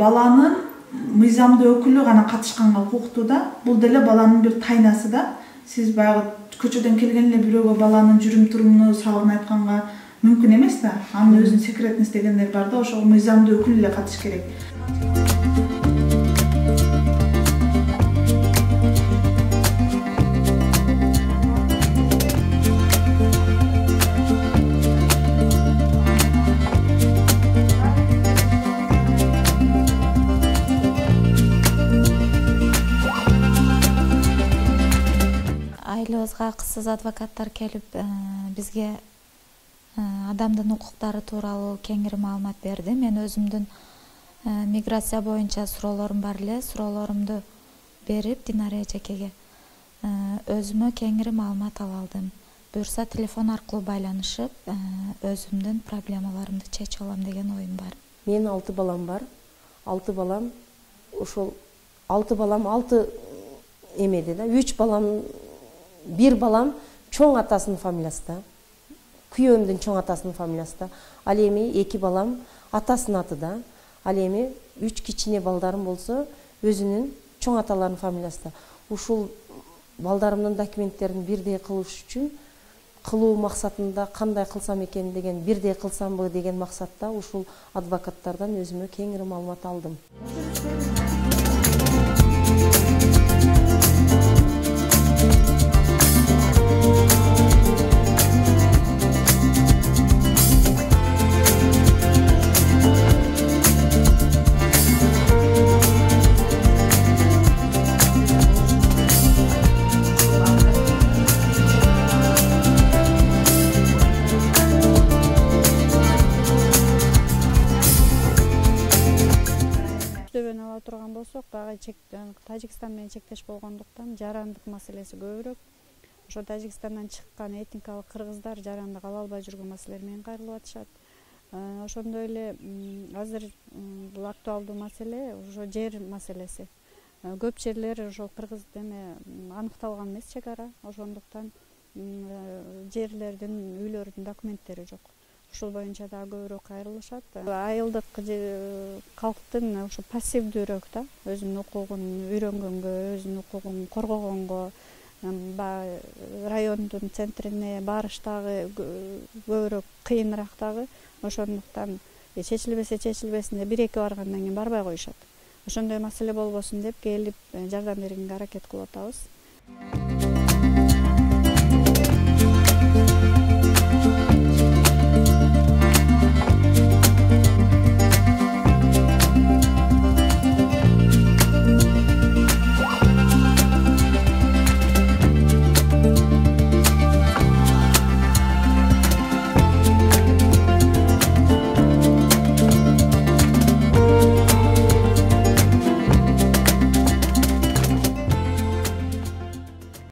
Баланын мыйзамдуу өкүлү гана катышканга укуктуу да. Бул деле баланын бир тайнасы да. Сиз баягы көчөдөн келген эле бирөөгө баланын жүрүм-турумуну, сабагын айтканга мүмкүн эмес да. Анын өзүнүн секретность дегендер бар да, ошого мыйзамдуу өкүл эле катыш керек. Айылыбызга кызсыз адвокаттар келип, бизге адамдын укуктары тууралуу кеңири маалымат берди. Мен өзүмдүн миграция боюнча суроолорум бар эле. Суроолорумду берип, Динара эжекеге өзүмө кеңири маалымат ала алдым. Буюрса телефон аркылуу байланышып, өзүмдүн проблемаларымды чечип алам деген оюм бар. Менин 6 балам бар. 6 балам ошол 6 балам 6 эмеде да. 3 балам, бир балам чоң атасынын фамилиясында. Күйөөмдүн чоң атасынын фамилиясында. Ал эми 2 балам атасынын атында. Ал эми 3 кичине балдарым болсо өзүнүн чоң аталарынын фамилиясында. Ушул балдарымдын документтерин бирдей кылыш үчүн кылуу максатында кандай кылсам экен деген, бирдей кылсамбы деген максатта ушул адвокаттардан өзүмө кеңири маалымат алдым. Ала турган болсок, дагы Тажикстан менен чектеш болгондуктан жарандык маселеси көбүрөөк. Ошо Тажикстандан чыккан этникалык кыргыздар жарандык ала албай жүргөн маселелер менен кайрылып атышат. Ошондой эле азыр бул актуалдуу маселе ошо жер маселеси. Көп жерлер ошо кыргыз деме аныкталган эмес чек ара. Ошондуктан жерлердин, үйлөрдүн документтери жок. Ушул боюнча дагы көбүрөөк кайрылышат. Айылдык калктын ошо пассивдүүрөөк да, өзүнүн укугун үйрөнгөнгө, өзүнүн укугун коргогонго, райондун центрине барыш дагы көбүрөөк кыйыныраак дагы. Ошондуктан чечилбесин деп 1-2 баргандан кийин барбай коюшат. Ошондой маселе болбосун деп келип жардам бергенге аракет кылып атабыз.